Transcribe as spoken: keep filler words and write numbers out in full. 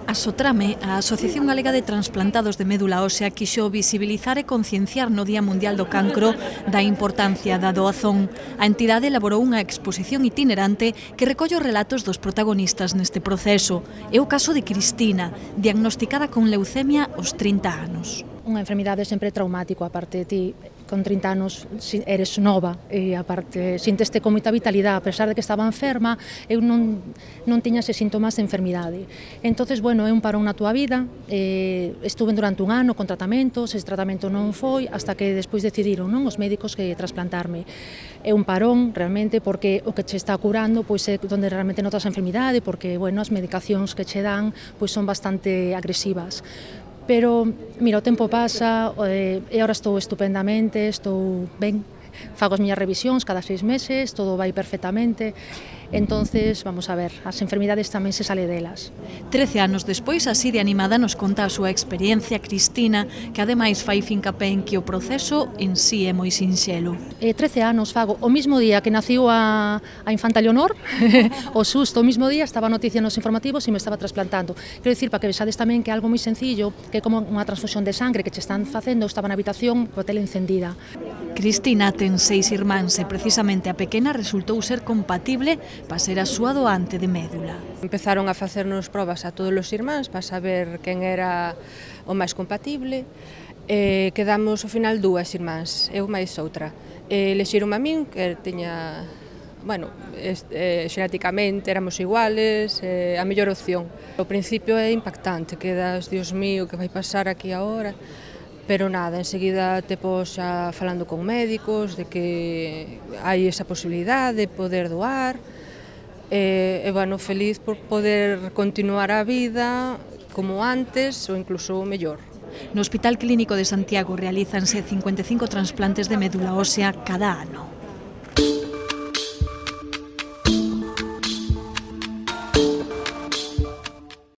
A Sotrame, a Asociación Galega de Transplantados de Médula Ósea, quixo visibilizar e concienciar no Día Mundial do Cancro da importancia da doazón. A entidade elaborou unha exposición itinerante que recolle os relatos dos protagonistas neste proceso. É o caso de Cristina, diagnosticada con leucemia aos trinta anos. Unha enfermidade sempre traumático, aparte de ti, con trinta anos eres nova e aparte sinteste con moita vitalidade, a pesar de que estaba enferma, eu non, non tiña ese síntomas de enfermidade. Entonces, bueno, é un parón na túa vida, eh, estuve durante un ano con tratamentos, ese tratamento non foi, hasta que despois decidiron, non, os médicos que trasplantarme. É un parón, realmente, porque o que che está curando, pois é onde realmente notas a enfermidade, porque, bueno, as medicacións que che dan, pois son bastante agresivas. Pero, mira, o tempo pasa e agora estou estupendamente, estou ben, fago as miñas revisións cada seis meses, todo vai perfectamente, entonces, vamos a ver, as enfermidades tamén se sale delas. Trece anos despois, así de animada, nos conta a súa experiencia Cristina, que ademais fai fincapé en que o proceso en sí é moi sinxelo. Eh, trece anos fago, o mismo día que naciu a, a infanta Leonor, o susto, o mismo día estaba a noticia nos informativos e me estaba trasplantando. Quero dicir, para que vexades tamén que é algo moi sencillo, que é como unha transfusión de sangre que che están facendo, eu estaba na habitación coa tele encendida. Cristina ten seis irmáns e precisamente a pequena resultou ser compatible para ser a súa doante de médula. Empezaron a facernos probas a todos os irmáns para saber quen era o máis compatible. E quedamos ao final dúas irmáns, eu máis outra. E lexiron a min, que tiña, bueno, eh, xenéticamente éramos iguales, eh, a mellor opción. Ao principio é impactante, quedas, Dios mío, que vai pasar aquí agora? Pero nada, enseguida te pos xa falando con médicos de que hai esa posibilidade de poder doar. E, e bueno, feliz por poder continuar a vida como antes ou incluso mellor. No Hospital Clínico de Santiago realízanse cincuenta e cinco transplantes de médula ósea cada ano.